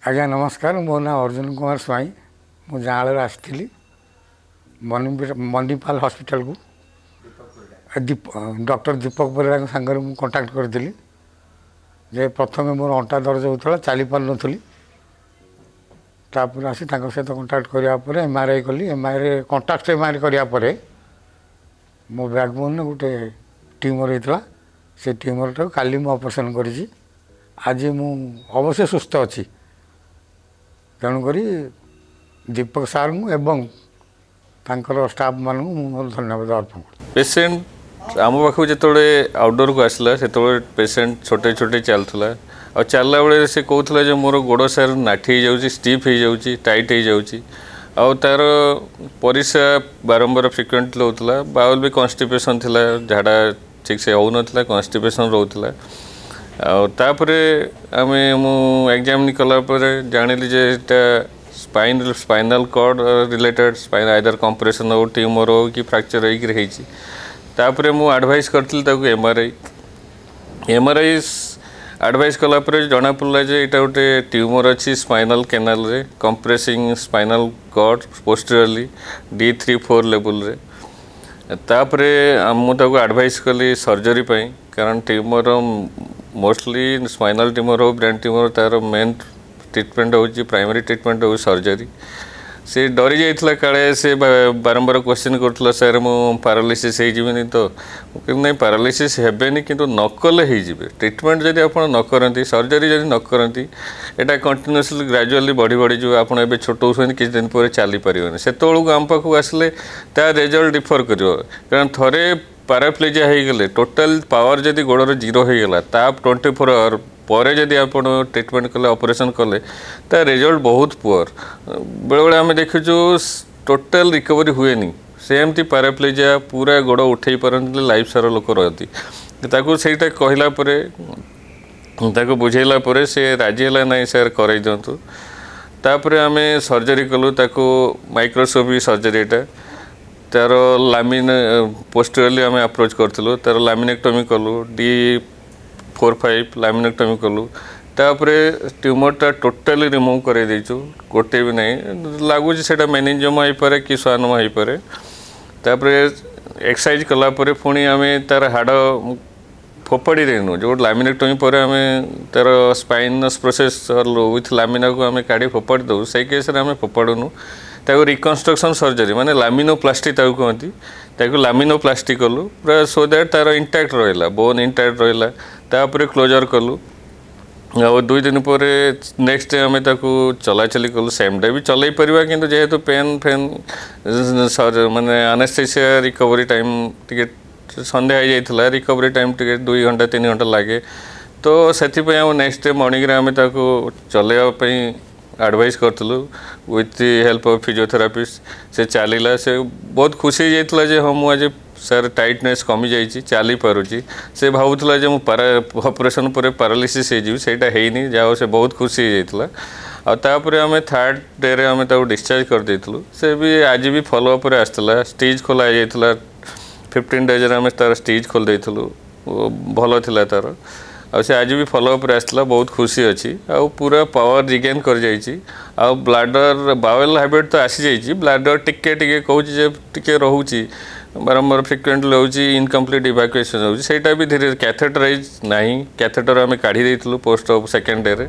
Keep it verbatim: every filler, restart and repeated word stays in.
ଆଜ୍ଞା ନମସ୍କାର ମୋ ନାଁ ଅର୍ଜୁନ କୁମାର ସ୍ୱାଇଁ ମୁଁ ଯାଆଁଳରୁ ଆସିଥିଲି ମଣିପାଲ ହସ୍ପିଟାଲକୁ ଦୀପ ଡକ୍ଟର ଦୀପକ ପରିଡ଼ାଙ୍କ ସାଙ୍ଗରେ ମୁଁ କଣ୍ଟାକ୍ଟ କରିଥିଲି ଯେ ପ୍ରଥମେ ମୋର ଅଣ୍ଟା ଦରଜ ହେଉଥିଲା ଚାଲିପାରୁନଥିଲି ତାପରେ ଆସି ତାଙ୍କ ସହିତ କଣ୍ଟାକ୍ଟ କରିବା ପରେ ଏମ୍ ଆର୍ I କଲି M R I contact M R I କରିବା ପରେ ମୋ ବ୍ୟାକବୋନ୍ରେ ଗୋଟେ ଟ୍ୟୁମର୍ ହେଇଥିଲା ସେ ଟ୍ୟୁମର୍ଟାକୁ କାଲି ମୁଁ ଅପରେସନ୍ କରିଛି ଆଜି ମୁଁ ଅବଶ୍ୟ ସୁସ୍ଥ ଅଛି ତେଣୁକରି ଦୀପକ ସାର୍ଙ୍କୁ ଏବଂ ତାଙ୍କର ଷ୍ଟାଫ୍ମାନଙ୍କୁ ମୁଁ ମୋର ଧନ୍ୟବାଦ ଅର୍ପଣ କରୁଛି ପେସେଣ୍ଟ ଆମ ପାଖକୁ ଯେତେବେଳେ ଆଉଟଡୋରକୁ ଆସିଲା ସେତେବେଳେ ପେସେଣ୍ଟ ଛୋଟେଇ ଛୋଟେଇ ଚାଲୁଥିଲା ଆଉ ଚାଲିଲା ବେଳେ ସେ କହୁଥିଲା ଯେ ମୋର ଗୋଡ଼ ସାର୍ ନାଠି ହେଇଯାଉଛି ଷ୍ଟିଫ୍ ହେଇଯାଉଛି ଟାଇଟ୍ ହେଇଯାଉଛି ଆଉ ତା'ର ପରିସ୍ରା ବାରମ୍ବାର ଫ୍ରିକ୍ୱେଣ୍ଟଲି ହେଉଥିଲା ବାଉଲ୍ ବି କନଷ୍ଟିପେସନ୍ ଥିଲା ଝାଡ଼ା ଠିକ୍ ସେ ହେଉନଥିଲା କନଷ୍ଟିପେସନ୍ ରହୁଥିଲା ଆଉ ତାପରେ ଆମେ ମୁଁ ଏକ୍ଜାମିନ୍ କଲା ପରେ ଜାଣିଲି ଯେ ଏଇଟା spine spinal cord related spine either compression ହେଉ ଟ୍ୟୁମର୍ ହେଉ କି ଫ୍ରାକ୍ଚର୍ ହେଇକିରି ହେଇଛି ତାପରେ ମୁଁ ଆଡ଼ଭାଇସ୍ କରିଥିଲି ତାକୁ M R I M R I advice କଲା ପରେ ଜଣାପଡ଼ିଲା ଯେ ଏଇଟା ଗୋଟେ ଟ୍ୟୁମର୍ ଅଛି ସ୍ପାଇନାଲ୍ କେନାଲରେ compressing spinal cord posteriorly D three four ଲେବୁଲରେ ତାପରେ ମୁଁ ତାକୁ ଆଡ଼ଭାଇସ୍ କଲି ସର୍ଜରୀ ପାଇଁ କାରଣ ଟ୍ୟୁମର୍ ମୋଷ୍ଟଲି ସ୍ପାଇନାଲ୍ ଟ୍ୟୁମର୍ ହେଉ ବ୍ରେନ୍ ଟ୍ୟୁମର୍ ତା'ର ମେନ୍ ଟ୍ରିଟମେଣ୍ଟ ହେଉଛି ପ୍ରାଇମେରୀ ଟ୍ରିଟମେଣ୍ଟ ହେଉଛି ସର୍ଜରୀ ସେ ଡରି ଯାଇଥିଲା କାଳେ ସେ ବାରମ୍ବାର କ୍ୱେଶ୍ଚିନ୍ କରୁଥିଲା ସାର୍ ମୁଁ ପାରାଲିସିସ୍ ହେଇଯିବିନି ତ ମୁଁ କହିଲି ନାଇଁ ପାରାଲିସିସ୍ ହେବେନି କିନ୍ତୁ ନ କଲେ ହେଇଯିବେ ଟ୍ରିଟମେଣ୍ଟ ଯଦି ଆପଣ ନ କରନ୍ତି ସର୍ଜରୀ ଯଦି ନ କରନ୍ତି ଏଇଟା କଣ୍ଟିନ୍ୟୁଅସଲି ଗ୍ରାଜୁଆଲି ବଢ଼ି ବଢ଼ିଯିବ ଆପଣ ଏବେ ଛୋଟ ହେଉଛନ୍ତି କିଛି ଦିନ ପରେ ଚାଲିପାରିବେନି ସେତେବେଳକୁ ଆମ ପାଖକୁ ଆସିଲେ ତା ରେଜଲ୍ଟ ଡିଫର୍ କରିବ କାରଣ ଥରେ ପାରାପ୍ଲେଜିଆ ହେଇଗଲେ ଟୋଟାଲ୍ ପାୱାର ଯଦି ଗୋଡ଼ର ଜିରୋ ହେଇଗଲା ତା ଟ୍ୱେଣ୍ଟି ଫୋର୍ ଆୱାର ପରେ ଯଦି ଆପଣ ଟ୍ରିଟମେଣ୍ଟ କଲେ ଅପରେସନ୍ କଲେ ତା ରେଜଲ୍ଟ ବହୁତ ପୁଅର୍ ବେଳେବେଳେ ଆମେ ଦେଖିଛୁ ଟୋଟାଲ୍ ରିକଭରି ହୁଏନି ସେମିତି ପାରାପ୍ଲେଜିଆ ପୁରା ଗୋଡ଼ ଉଠେଇ ପାରନ୍ତିନି ଲାଇଫ୍ ସାରା ଲୋକ ରହନ୍ତି ତାକୁ ସେଇଟା କହିଲା ପରେ ତାକୁ ବୁଝେଇଲା ପରେ ସେ ରାଜି ହେଲା ନାହିଁ ସାର୍ କରେଇ ଦିଅନ୍ତୁ ତାପରେ ଆମେ ସର୍ଜରୀ କଲୁ ତାକୁ ମାଇକ୍ରୋସ୍କୋପି ସର୍ଜରୀ ଏଇଟା ତା'ର ଲାମିନ ପୋଷ୍ଟରିୟରଲି ଆମେ ଆପ୍ରୋଚ୍ କରିଥିଲୁ ତା'ର ଲାମିନେକ୍ଟମି କଲୁ ଡି ଫୋର୍ ଫାଇଭ୍ ଲାମିନେକ୍ଟମି କଲୁ ତାପରେ ଟ୍ୟୁମର୍ଟା ଟୋଟାଲି ରିମୁଭ୍ କରାଇ ଦେଇଛୁ ଗୋଟେ ବି ନାହିଁ ଲାଗୁଛି ସେଇଟା ମେନିଞ୍ଜିଓମା ହେଇପାରେ କି ସ୍ୱାନୋମା ହେଇପାରେ ତାପରେ ଏକ୍ସରସାଇଜ୍ କଲା ପରେ ପୁଣି ଆମେ ତା'ର ହାଡ଼ ଫୋପାଡ଼ି ଦେଇନୁ ଯେଉଁ ଲାମିନେକ୍ଟମି ପରେ ଆମେ ତା'ର ସ୍ପାଇନସ୍ ପ୍ରୋସେସ୍ ୱିଥ୍ ଲାମିନାକୁ ଆମେ କାଢ଼ି ଫୋପାଡ଼ି ଦେଉ ସେଇ କେସ୍ରେ ଆମେ ଫୋପାଡ଼ୁନୁ ତାକୁ ରିକନଷ୍ଟ୍ରକ୍ସନ୍ ସର୍ଜରୀ ମାନେ ଲାମିନୋପ୍ଲାଷ୍ଟି ତାକୁ କୁହନ୍ତି ତାକୁ ଲାମିନୋପ୍ଲାଷ୍ଟି କଲୁ ପୁରା ସୋ that ତା'ର ଇଣ୍ଟାକ୍ଟ ରହିଲା ବୋନ୍ ଇଣ୍ଟାକ୍ଟ ରହିଲା ତାପରେ କ୍ଲୋଜର୍ କଲୁ ଆଉ ଦୁଇ ଦିନ ପରେ ନେକ୍ସଟ ଡେ ଆମେ ତାକୁ ଚଲାଚଲି କଲୁ ସେମ୍ ଡେ ବି ଚଲେଇ ପାରିବା କିନ୍ତୁ ଯେହେତୁ ପେନ୍ ଫେନ୍ ମାନେ ଆନେସ୍ଥେସିଆ ରିକଭରି ଟାଇମ୍ ଟିକେ ସନ୍ଧ୍ୟା ହେଇଯାଇଥିଲା ରିକଭରି ଟାଇମ୍ ଟିକେ ଦୁଇ ଘଣ୍ଟା ତିନି ଘଣ୍ଟା ଲାଗେ ତ ସେଥିପାଇଁ ଆମ ନେକ୍ସଟ ଡେ ମର୍ଣ୍ଣିଂରେ ଆମେ ତାକୁ ଚଲେଇବା ପାଇଁ ଆଡ଼ଭାଇସ୍ କରିଥିଲୁ with the help of physiotherapist ସେ ଚାଲିଲା ସେ ବହୁତ ଖୁସି ହେଇଯାଇଥିଲା ଯେ ହଁ ମୁଁ ଆଜି ସାର୍ ଟାଇଟନେସ୍ କମିଯାଇଛି ଚାଲିପାରୁଛି ସେ ଭାବୁଥିଲା ଯେ ମୁଁ ପାରା ଅପରେସନ୍ ପରେ ପାରାଲିସିସ୍ ହେଇଯିବି ସେଇଟା ହେଇନି ଯାହା ହଉ ସେ ବହୁତ ଖୁସି ହେଇଯାଇଥିଲା ଆଉ ତାପରେ ଆମେ ଥାର୍ଡ଼ ଡେରେ ଆମେ ତାକୁ ଡିସଚାର୍ଜ କରିଦେଇଥିଲୁ ସେ ବି ଆଜି ବି ଫଲୋଅପ୍ରେ ଆସିଥିଲା ଷ୍ଟିଚ୍ ଖୋଲା ହେଇଯାଇଥିଲା ଫିଫ୍ଟିନ୍ ଡେଜ୍ରେ ଆମେ ତା'ର ଷ୍ଟିଚ୍ ଖୋଲି ଦେଇଥିଲୁ ଭଲ ଥିଲା ତା'ର ଆଉ ସେ ଆଜି ବି ଫଲୋଅପ୍ରେ ଆସିଥିଲା ବହୁତ ଖୁସି ଅଛି ଆଉ ପୁରା ପାୱାର ରିଗେନ୍ କରିଯାଇଛି ଆଉ ବ୍ଲାଡର ବାୱେଲ୍ ହ୍ୟାବିଟ୍ ତ ଆସିଯାଇଛି ବ୍ଲାଡର ଟିକେ ଟିକେ କହୁଛି ଯେ ଟିକେ ରହୁଛି ବାରମ୍ବାର ଫ୍ରିକ୍ୱେଣ୍ଟଲି ହେଉଛି ଇନକମ୍ପ୍ଲିଟ୍ ଇଭାକୁଏସନ୍ ହେଉଛି ସେଇଟା ବି ଧୀରେ କ୍ୟାଥେଟରାଇଜ୍ ନାହିଁ କ୍ୟାଥେଟର ଆମେ କାଢ଼ି ଦେଇଥିଲୁ ପୋଷ୍ଟ ଅପ୍ ସେକେଣ୍ଡ ଡେରେ